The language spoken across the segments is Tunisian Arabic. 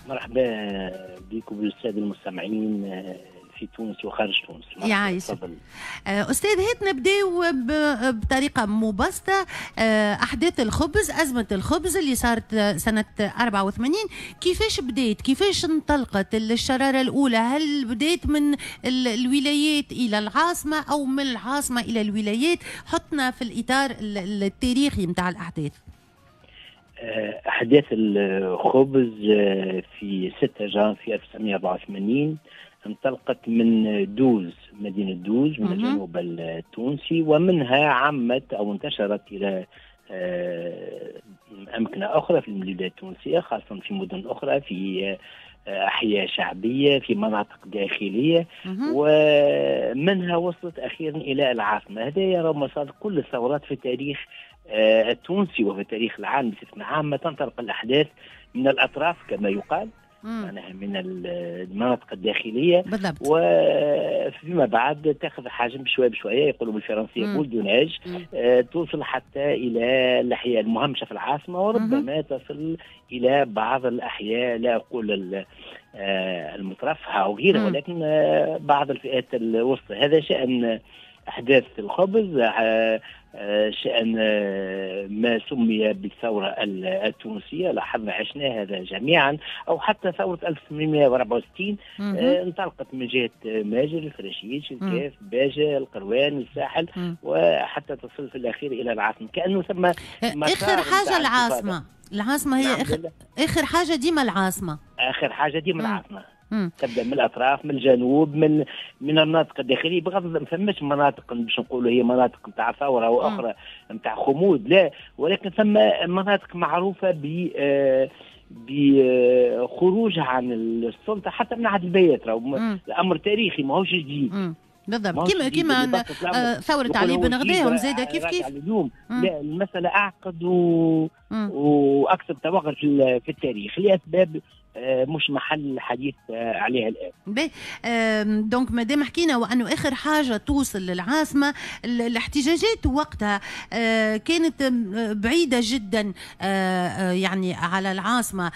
مرحبا بكم بالساده المستمعين في تونس وخارج تونس. يعيشك. أستاذ، هات نبداو بطريقة مبسطة. أحداث الخبز، أزمة الخبز اللي صارت سنة 84، كيفاش بدات؟ كيفاش انطلقت الشرارة الأولى؟ هل بدات من الولايات إلى العاصمة أو من العاصمة إلى الولايات؟ حطنا في الإطار التاريخي متاع الأحداث. أحداث الخبز في 6 جانفي 1984 انطلقت من دوز، مدينة دوز من الجنوب التونسي، ومنها عمت أو انتشرت إلى أمكنة أخرى في البلاد التونسية، خاصة في مدن أخرى، في أحياء شعبية، في مناطق داخلية، ومنها وصلت أخيرا إلى العاصمة. هذا يرى مسار كل الثورات في التاريخ التونسي وفي التاريخ العام بصفة عامة. تنطلق الأحداث من الأطراف كما يقال، معناها من المناطق الداخلية بالضبط، وفيما بعد تاخذ حجم بشوية بشوية، يقولوا بالفرنسية boule de neige، توصل حتى إلى الأحياء المهمشة في العاصمة، وربما تصل إلى بعض الأحياء، لا أقول المترفهة أو غيرها، ولكن بعض الفئات الوسطى. هذا شأن أحداث الخبز، شأن ما سمي بالثورة التونسية، لاحظنا عشنا هذا جميعا، أو حتى ثورة 1864 انطلقت من جهة ماجر، الفراشيش، الكاف، باجة، القروان، الساحل، وحتى تصل في الأخير إلى العاصمة. كأنه ثم آخر حاجة العاصمة. العاصمة هي آخر حاجة ديما العاصمة. آخر حاجة ديما العاصمة. تبدا من الاطراف، من الجنوب، من المناطق الداخلية، بغض ما فماش مناطق باش نقولوا هي مناطق نتاع ثورة او اخرى نتاع خمود، لا، ولكن ثم مناطق معروفة بخروجها عن السلطة حتى من عهد البيات. الامر تاريخي ماهوش جديد. بالضبط، كيما ثورة علي بن غذاهم زاده كيف كيف. اليوم لا، المسألة أعقد وأكثر توغل في التاريخ لأسباب مش محل حديث عليها الآن. باهي، donc مادام حكينا وأنه آخر حاجة توصل للعاصمة، الاحتجاجات وقتها كانت بعيدة جدا يعني على العاصمة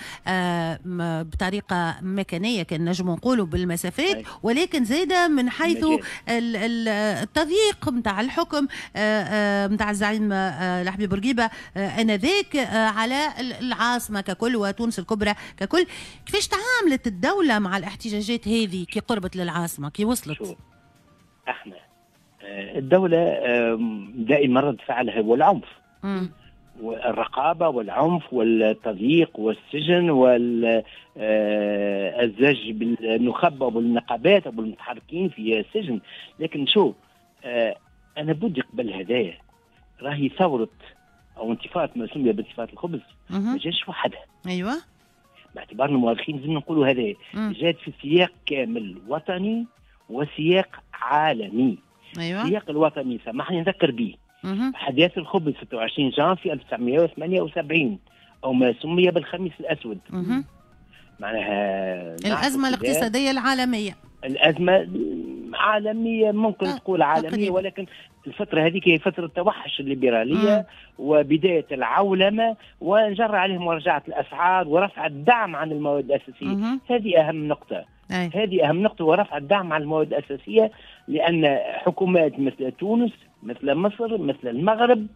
بطريقة مكانية كان نجم نقولوا بالمسافات، ولكن زادة من حيث التضييق نتاع الحكم نتاع الزعيم الحبيب بورقيبة آنذاك على العاصمة ككل وتونس الكبرى ككل. كيفاش تعاملت الدولة مع الاحتجاجات هذه كي قربت للعاصمة، كي وصلت؟ شو احنا الدولة دائما رد فعلها هو العنف، والرقابة والعنف والتضييق والسجن والزج بالنخبة والنقابات والمتحركين في السجن. لكن شو أنا بدي قبل هدايا راهي ثورة أو انتفاضة ما سمي بانتفاضة الخبز ما جاش وحدها. أيوة، باعتبارنا مؤرخين لازم نقولوا هذا جات في سياق كامل وطني وسياق عالمي. أيوة. السياق الوطني سامحني نذكر به أحداث الخبز 26 جانفي 1978 أو ما سمي بالخميس الأسود. معناها الأزمة الاقتصادية العالمية. الأزمة عالمية، ممكن تقول عالمية تقريبا. ولكن الفترة هذيك هي فترة التوحش الليبرالية وبداية العولمة، وانجر عليهم مراجعة الأسعار ورفع الدعم عن المواد الأساسية. هذه أهم نقطة. هذه أهم نقطة، ورفع الدعم عن المواد الأساسية، لأن حكومات مثل تونس، مثل مصر، مثل المغرب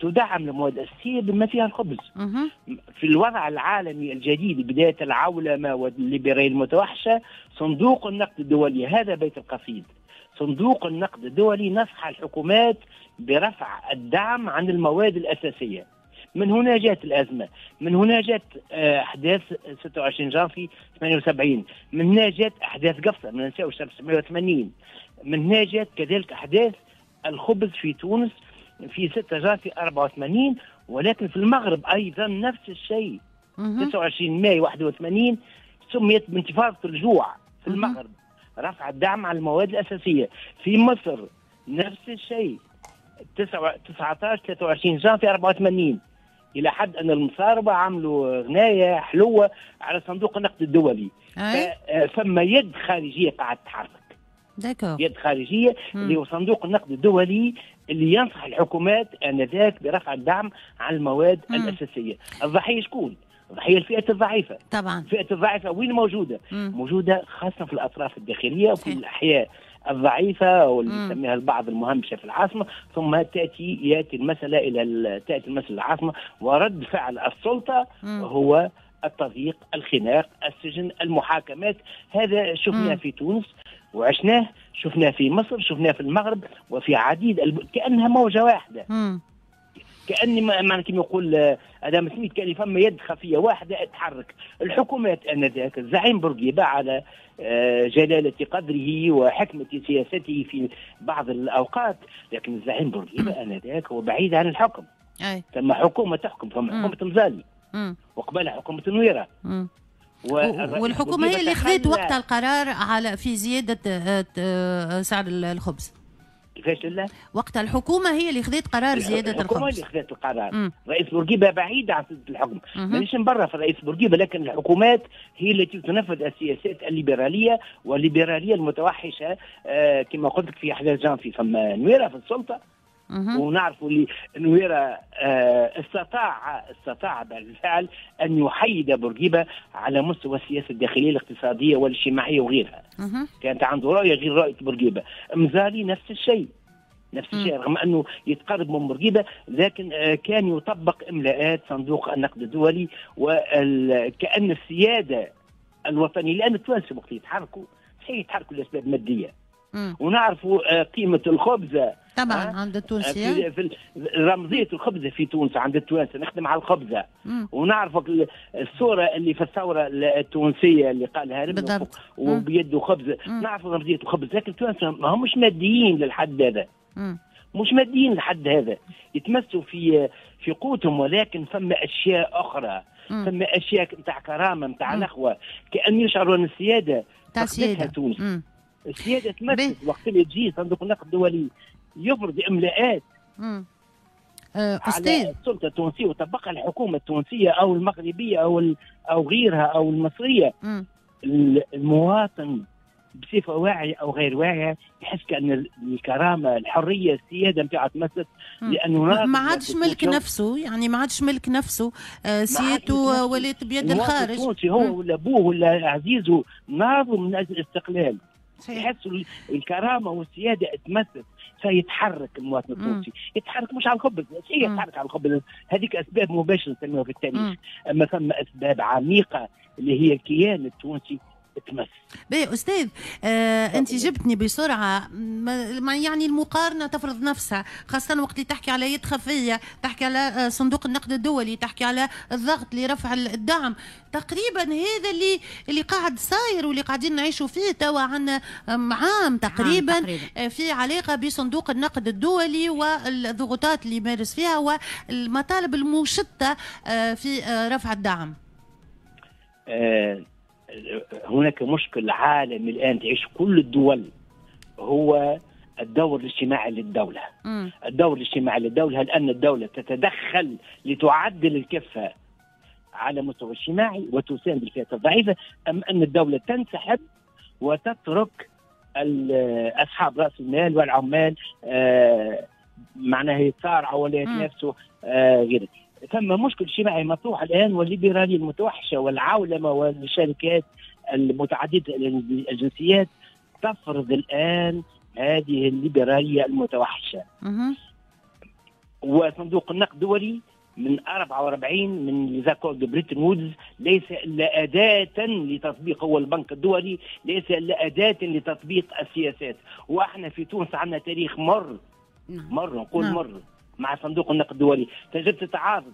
تدعم المواد الأساسية بما فيها الخبز. في الوضع العالمي الجديد بداية العولمة والليبرالية المتوحشة، صندوق النقد الدولي، هذا بيت القصيد، صندوق النقد الدولي نصح الحكومات برفع الدعم عن المواد الأساسية. من هنا جاءت الأزمة، من هنا جاءت أحداث 26 جانفي 78، من هنا جاءت أحداث قفصة، ما ننساوش 1980، من هنا جاءت كذلك أحداث الخبز في تونس في 6 جانفي 84، ولكن في المغرب أيضا نفس الشيء. 29 ماي 81 سميت بانتفاضة الجوع في المغرب، رفع الدعم على المواد الأساسية. في مصر نفس الشيء 19 23 جانفي 84، إلى حد أن المصاربة عملوا غناية حلوة على صندوق النقد الدولي. فما يد خارجية قاعدة تتحرك، يد خارجية اللي هو صندوق النقد الدولي اللي ينصح الحكومات آنذاك برفع الدعم على المواد الأساسية. الضحية شكون؟ ضحية الفئة الضعيفة. طبعا الفئة الضعيفة وين موجودة؟ موجودة خاصة في الأطراف الداخلية وفي الأحياء الضعيفة واللي يسميها البعض المهمشة في العاصمة. ثم يأتي المسألة إلى تأتي المسألة العاصمة، ورد فعل السلطة هو التضييق، الخناق، السجن، المحاكمات. هذا شفناه في تونس وعشناه، شفناه في مصر، شفناه في المغرب وفي عديد كأنها موجة واحدة. كأني معنى كما يقول أدام سميث، كان فما يد خفية واحدة تحرك الحكومات آنذاك. الزعيم بورقيبة على جلالة قدره وحكمة سياسته في بعض الأوقات، لكن الزعيم بورقيبة آنذاك هو بعيد عن الحكم. ثم حكومة تحكم، ثم حكومة مزالي وقبلها حكومة نويرة. والحكومة هي اللي خذت وقتها القرار على في زيادة سعر الخبز. كيفاش لا؟ وقتها الحكومة هي اللي خذت قرار زيادة الخبز. الحكومة اللي خذت القرار. رئيس بورقيبة بعيد عن الحكم، مانيش نبرر في رئيس بورقيبة، لكن الحكومات هي التي تنفذ السياسات الليبرالية والليبرالية المتوحشة. كما قلت لك في أحداث جانفي فما نويرة في السلطة، ونعرفوا اللي نويرة استطاع بالفعل أن يحيد بورقيبة على مستوى السياسة الداخلية الاقتصادية والاجتماعية وغيرها. كانت عنده رؤية غير رؤية بورقيبة. مزالي نفس الشيء، نفس الشيء، رغم أنه يتقرب من بورقيبة لكن كان يطبق إملاءات صندوق النقد الدولي، وكأن السيادة الوطنية، لأن التوانسة وقت يتحركوا صحيح يتحركوا لأسباب مادية، ونعرفوا قيمة الخبزة طبعا عند التونسية، في رمزية الخبزة في تونس عند التوانسة، نخدم على الخبزة. ونعرف الصورة اللي في الثورة التونسية اللي قالها ربنا وبيده خبزة، نعرف رمزية الخبز. لكن التوانسة ما همش ماديين للحد هذا، مش ماديين لحد هذا، يتمسوا في قوتهم، ولكن فما أشياء أخرى، فما أشياء نتاع كرامة، نتاع نخوة، كأن يشعروا أن السيادة فقدتها تونس. السيادة تمثل وقت اللي تجي صندوق النقد الدولي يفرض إملاءات على السلطة التونسية وطبقها الحكومة التونسية أو المغربية أو غيرها أو المصرية. المواطن بصفة واعية أو غير واعية يحس كأن الكرامة، الحرية، السيادة نتاعها تمست، لأنه ما عادش ملك نفسه، يعني ما عادش ملك نفسه، سيادته ولات بيد الخارج. التونسي هو ولا أبوه ولا عزيزه ناضوا من أجل الاستقلال، يحسوا الكرامة والسيادة تمثل، فيتحرك المواطن التونسي، يتحرك مش على الخبز، يتحرك على الخبز، هذيك اسباب مباشرة نسميها في التاريخ، اما ثم اسباب عميقة اللي هي الكيان التونسي تمس. باهي استاذ، انت جبتني بسرعة، يعني المقارنة تفرض نفسها، خاصة وقت اللي تحكي على يد خفيه، تحكي على صندوق النقد الدولي، تحكي على الضغط لرفع الدعم، تقريبا هذا اللي قاعد صاير واللي قاعدين نعيشوا فيه توا عندنا عام تقريبا في علاقة بصندوق النقد الدولي والضغوطات اللي يمارس فيها والمطالب المشتة في رفع الدعم. هناك مشكل عالمي الآن تعيش كل الدول، هو الدور الاجتماعي للدولة. الدور الاجتماعي للدولة، هل أن الدولة تتدخل لتعدل الكفة على مستوى اجتماعي وتساند الفئات الضعيفة، أم أن الدولة تنسحب وتترك أصحاب رأس المال والعمال معناها يتصارعوا ولا يتنافسوا غيره. ثم مشكل اجتماعي مطروح الآن، والليبرالية المتوحشة والعولمة والشركات المتعددة الجنسيات تفرض الآن هذه الليبرالية المتوحشة. وصندوق النقد الدولي من 44 من les accords de Bretton Woods ليس إلا أداة لتطبيق، هو البنك الدولي ليس إلا أداة لتطبيق السياسات. وإحنا في تونس عندنا تاريخ مر، مر نقول مر مع صندوق النقد الدولي، تجربة التعارض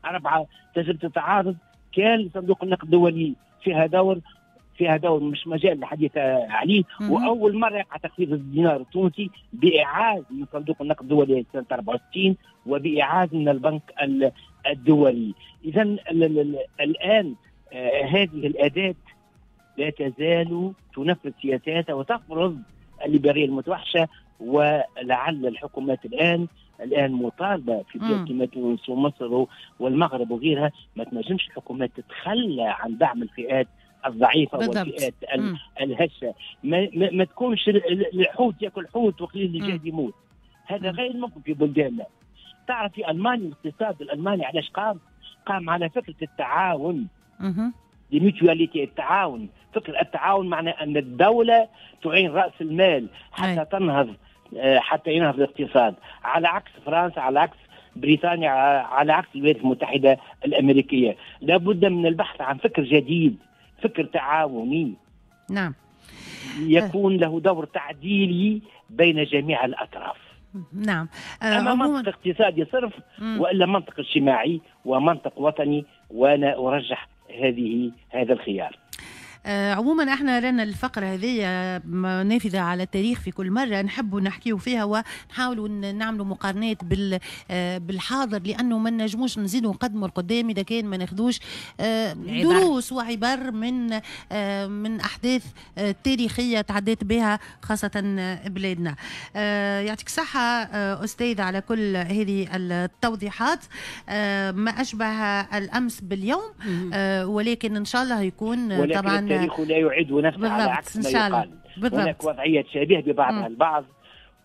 أربعة، تجربة التعارض كان صندوق النقد الدولي فيها دور، فيها دور مش مجال الحديث عليه. وأول مرة يقع تخفيض الدينار التونسي بإعاز من صندوق النقد الدولي سنة 64 وبإعاز من البنك الدولي. إذا الآن هذه الأداة لا تزال تنفذ سياساتها وتفرض الليبرالية المتوحشة، ولعل الحكومات الآن مطالبة في بلاد كما تونس ومصر والمغرب وغيرها، ما تنجمش الحكومات تتخلى عن دعم الفئات الضعيفة والفئات الهشة. ما تكونش الحوت ياكل حوت وقليل الجهد يموت، هذا غير ممكن في بلداننا. تعرف في ألمانيا الاقتصاد الألماني علاش قام؟ قام على فكرة التعاون، la mutualité، التعاون. فكرة التعاون معنى أن الدولة تعين رأس المال حتى تنهض، حتى ينهض الاقتصاد، على عكس فرنسا، على عكس بريطانيا، على عكس الولايات المتحدة الأمريكية. لابد من البحث عن فكر جديد، فكر تعاوني، نعم، يكون له دور تعديلي بين جميع الأطراف. نعم. أما منطق اقتصادي صرف وإلا منطق اجتماعي ومنطق وطني، وأنا أرجح هذا الخيار. عموما احنا لنا الفقرة هذه نافذة على التاريخ، في كل مرة نحب نحكيو فيها ونحاولوا نعملوا مقارنات بالحاضر، لأنه ما نجموش نزيدوا نقدموا القدام إذا كان ما ناخذوش دروس وعبر من أحداث تاريخية تعدت بها خاصة بلادنا. يعطيك الصحة أستاذ على كل هذه التوضيحات. ما أشبه الأمس باليوم، ولكن إن شاء الله يكون طبعا التاريخ لا يعيد نفسه على عكس ما يقال. هناك وضعية شبيهة ببعضها البعض،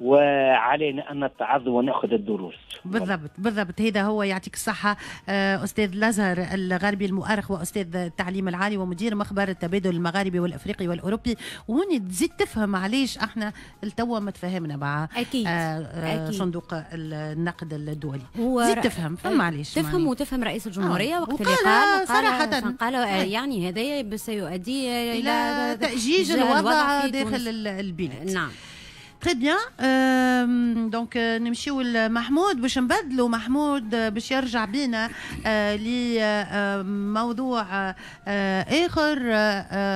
وعلينا أن نتعظ ونأخذ الدروس. بالضبط بالضبط، هذا هو. يعطيك الصحة أستاذ الأزهر الغربي المؤرخ وأستاذ التعليم العالي ومدير مخبر التبادل المغاربي والأفريقي والأوروبي. وهوني تزيد تفهم علاش احنا التوا ما تفهمنا مع أكيد. أكيد. صندوق النقد الدولي تزيد تفهم، فما علاش تفهم وتفهم رئيس الجمهورية وقت اللي قال صراحة قال يعني هذا سيؤدي إلى تأجيج الوضع داخل البلاد. نعم. très bien. donc نمشيو لمحمود باش نبدلو، محمود باش يرجع بينا لموضوع اخر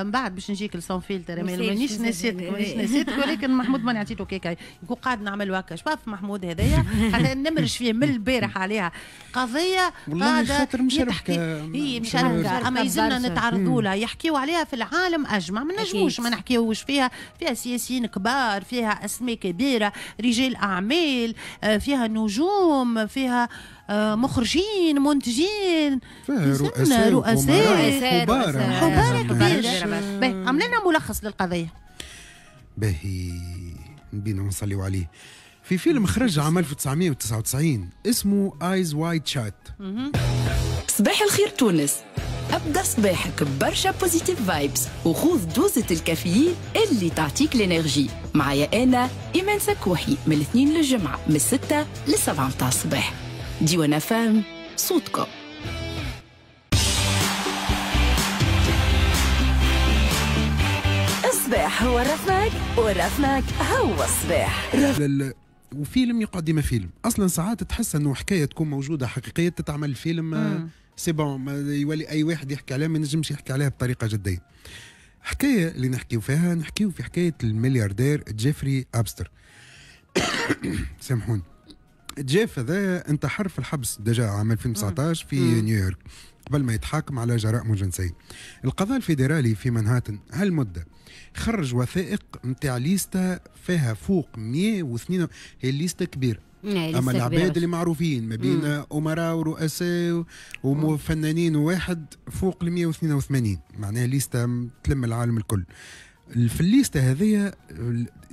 من بعد باش نجيك ل sans filtre. مانيش نسيتك، مانيش نسيتك، ولكن محمود ماني عطيته كيكة يكون قاعد نعمل هكا. شوف محمود هذايا حتى نمرش فيه من البارح عليها قضية قاعدة مشاركة، هي مشاركة اما يلزمنا نتعرضوا لها، يحكيوا عليها في العالم اجمع، ما نجموش ما نحكيوش فيها. فيها سياسيين كبار، فيها أسماء كبيرة، رجال أعمال، فيها نجوم، فيها مخرجين، منتجين، فيها رؤساء، حبارة كبيرة. عملنا ملخص للقضية. باهي نبينا ونصليو عليه. في فيلم خرج عام 1999 اسمه Eyes Wide Shut. صباح الخير تونس، أبدأ صباحك ببرشا positive vibes وخوذ دوزة الكافيين اللي تعطيك l'énergie. معايا أنا إيمان سكوحي من الاثنين للجمعة من 6 ل7 متاع الصباح. ديوان فام صوتكم. الصباح هو الرفماك والرفماك هو الصباح. وفيلم يقعد ديما فيلم. اصلا ساعات تحس انه حكاية تكون موجودة حقيقية تتعمل فيلم، c'est bon يولي اي واحد يحكي عليها ما ينجمش يحكي عليها بطريقة جدية. حكاية اللي نحكيو فيها، نحكيو في حكاية الملياردير جيفري ابستر. سامحوني. جيف هذا انتحر في الحبس déjà عام 2019 في نيويورك قبل ما يتحاكم على جرائم جنسية. القضاء الفيدرالي في منهاتن هالمده خرج وثائق نتاع ليستا فيها فوق 102، هي ليستا كبيرة، اما العباد اللي معروفين ما بين امراء ورؤساء وفنانين وواحد فوق ال 182، معناها ليستا تلم العالم الكل. في الليستة هذه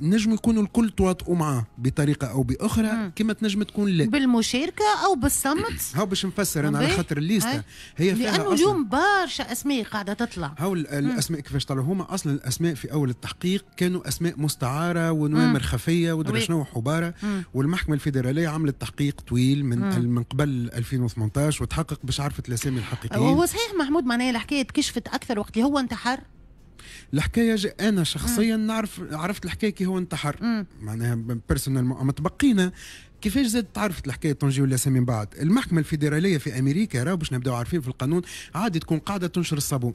نجم يكونوا الكل تواطؤوا معاه بطريقة او باخرى، كما تنجم تكون لا بالمشاركة او بالصمت. هاو باش نفسر انا على خاطر الليستة هي فيها لانه اليوم برشا اسماء قاعدة تطلع. هاو الاسماء كيفاش طلعوا؟ هما اصلا الاسماء في اول التحقيق كانوا اسماء مستعارة ونوامر خفيه ودرا شنو حباره، والمحكمة الفيدرالية عملت تحقيق طويل من قبل 2018 وتحقق باش عرفت الاسامي الحقيقيين. وهو صحيح محمود معناها الحكاية تكشفت اكثر وقت اللي هو انتحر. الحكاية انا شخصيا نعرف، عرفت الحكاية كي هو انتحر، معناها personnellement. اما تبقينا كيفاش زاد تعرفت الحكاية تنجي ولا من بعد المحكمة الفيدرالية في امريكا، راهو باش نبداو عارفين في القانون عادي تكون قاعدة تنشر الصابون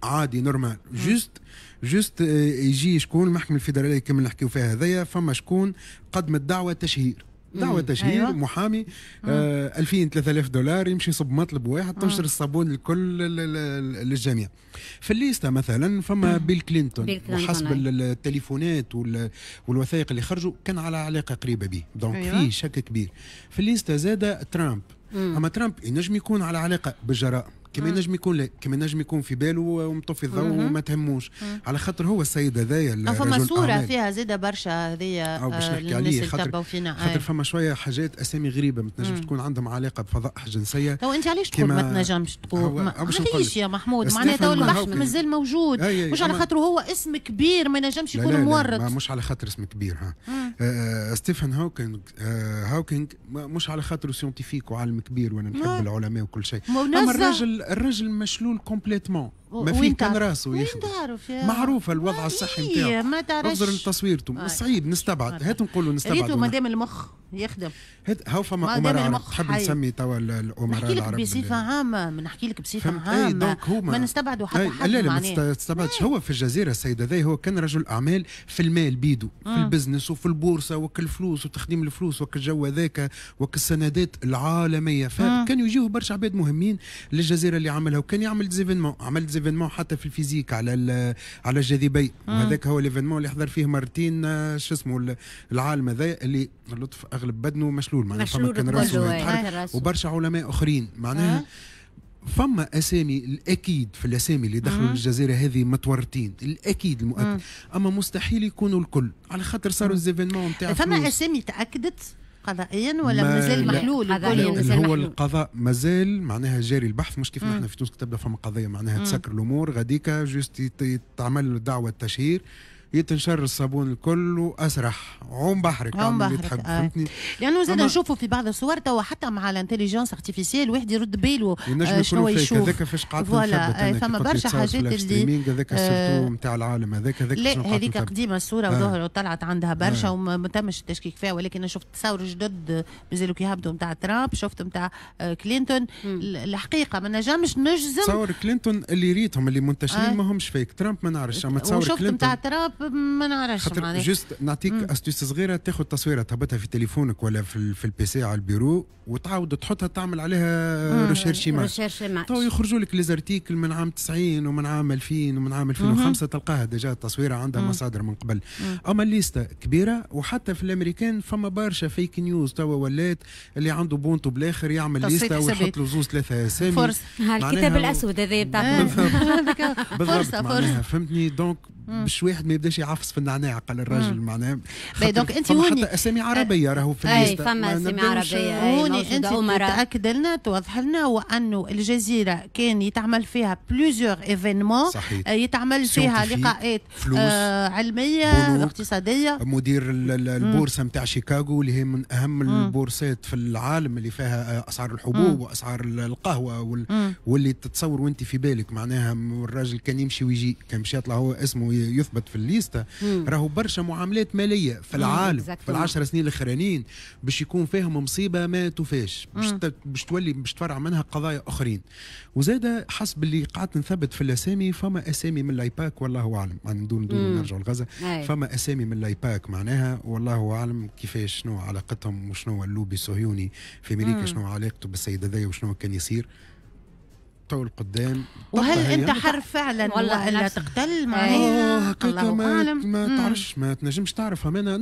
عادي normal، juste يجي شكون المحكمة الفيدرالية كما نحكيو فيها هذايا، فما شكون قدمت دعوه تشهير، دعوة تشهير. أيوة. محامي 2000 3000 دولار يمشي يصب مطلب واحد تنشر الصابون الكل للجميع. في الليستة مثلا فما بيل كلينتون، وحسب التليفونات والوثائق اللي خرجوا كان على علاقة قريبة به، donc. أيوة. فيه شك كبير. في الليستة زاد ترامب. أما ترامب ينجم يكون على علاقة بالجرائم كما ينجم يكون لا، كما ينجم يكون في باله ومطفي الضوء وما تهموش، على خاطر هو السيد هذايا. فما صوره فيها زاده برشا هذيا باش نحكي عليه، خاطر فما شوية حاجات اسامي غريبة ما تنجمش تكون عندهم علاقة بفضائح جنسية. تو انت علاش تقول ما تنجمش تقول؟ علاش يا محمود؟ معناها تو البحث مازال موجود، مش على خاطر هو اسم كبير ما ينجمش يكون مورط. مش على خاطر اسم كبير. ها ستيفن هاوكينغ مش على خاطر scientifique وعالم كبير وانا نحب العلماء وكل شيء، اما الراجل مشلول complètement، ما فيه كان راسه يخدم، معروفة الوضع الصحي نتاعو، ما تعرفش انظر لتصويرته، صعيب نستبعد. هات نقولوا نستبعد ريتو مادام المخ يخدم. هاو فما امراء تحب نسمي توا الامراء العرب. نحكي لك بصفة عامة، نحكي لك بصفة عامة، ما نستبعدوا حتى حد. لا لا ما تستبعدش. هو في الجزيرة السيد هذا هو كان رجل اعمال في المال بيدو، في ال business وفي البورصة وكل الفلوس وتخديم الفلوس وكل الجو هذاك وكل السندات العالمية، فكانوا يجيوه برشا عباد مهمين للجزيرة اللي عملها، وكان يعمل des événements، عمل des événements حتى في ال physique على الجاذبية، وهذاك هو l'événement اللي حضر فيه مرتين شو اسمه العالم هذا اللي اللطف اغلب بدنه مشلول، معناها فما كان راسه يتحرك، وبرشا علماء اخرين معناها. فما اسامي الاكيد في الاسامي اللي دخلوا للجزيرة هذه متورطين، الاكيد المؤكد، اما مستحيل يكونوا الكل على خاطر صاروا les événements نتاع. فما اسامي تاكدت قضائيا ولا مازال محلول؟ هو القضاء مازال معناها جاري البحث، مش كيف نحن في تونس تبدا فما قضية معناها تسكر الامور غاديكا juste تعمل دعوه تشهير يتنشر الصابون الكل واسرح عوم بحرك، عوم بحرك اللي تحب. فهمتني؟ لانه زاد نشوفوا في بعض الصور توا حتى مع ال intelligence artificielle واحد يرد باله شنو يشوف. هذاك فاش قعدت نثبت، فما برشا حاجات اللي هذاك surtout نتاع العالم هذاك لا هذيك قديمة الصورة وظهر وطلعت عندها برشا وما تمش التشكيك فيها، ولكن انا شفت تصاور جدد مازالوا كي هبطوا نتاع ترامب، شفت نتاع كلينتون. الحقيقة ما نجمش نجزم. تصور كلينتون اللي ريتهم اللي منتشرين ما همش fake، ترامب ما نعرفش، اما تصور كلينتون نتاع ترامب ما نعرفش. خاطر juste نعطيك astuce صغيرة، تاخذ تصويره تهبطها في تليفونك ولا في ال PC على البيرو وتعاود تحطها تعمل عليها recherche image، تو يخرجوا لك les articles من عام 90 ومن عام 2000 ومن عام 2005، تلقاها déjà التصويره عندها مصادر من قبل. اما الليستة كبيرة، وحتى في الامريكان فما برشا fake news توا ولات، اللي عنده بونتو بالاخر يعمل ليسته ويحط له زوز ثلاثة اسامي. فرصة الكتاب الاسود هذا بتاع فرصة فرصة، فهمتني؟ donc باش واحد ما يبداش يعفس في النعناع قال الراجل معناها. donc انت هوني حتى اسامي عربية راهو في الليستة، فما اسامي عربية هوني. انت تاكد لنا توضح لنا وانه الجزيرة كان يتعمل فيها plusieurs événements، يتعمل فيها لقاءات علمية اقتصادية. مدير البورصة نتاع شيكاغو اللي هي من اهم البورصات في العالم، اللي فيها اسعار الحبوب واسعار القهوة واللي تتصور وانت في بالك معناها الراجل كان يمشي ويجي، كان مش يطلع هو اسمه يثبت في الليستة. راهو برشا معاملات ماليه في العالم في ال10 سنين الاخرانيين باش يكون فيهم مصيبة ما توفاش، باش تولي باش تفرع منها قضايا اخرين. وزاد حسب اللي قعدت نثبت في الاسامي، فما اسامي من الايباك والله اعلم، يعني دون نرجعوا لغزة، فما اسامي من الايباك معناها والله اعلم كيفاش شنو علاقتهم وشنو اللوبي الصهيوني في امريكا شنو علاقته بالسيد هذايا وشنو كان يصير تو القدام. وهل انتحر فعلا ولا تقتل معناها؟ الله اعلم، ما تعرفش، ما تنجمش تعرف. انا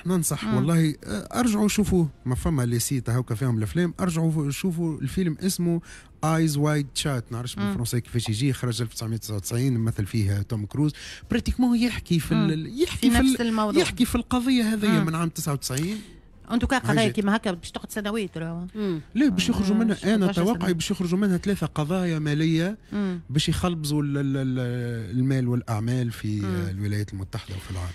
ننصح والله ارجعوا شوفوه، ما فما les sites هاكا فيهم الافلام، ارجعوا شوفوا الفيلم اسمه Eyes Wide Shut، نعرفش بالفرنسي كيفاش يجي، خرج 1999 مثل فيه توم كروز، pratiquement يحكي في يحكي في نفس الموضوع، يحكي في القضية هذه من عام 99. en tout cas قضايا كيما هكا باش تقعد سنوات راهو. لا باش يخرجوا منها، انا توقعي باش يخرجوا منها 3 قضايا ماليه باش يخلبزوا المال والاعمال في الولايات المتحدة وفي العالم.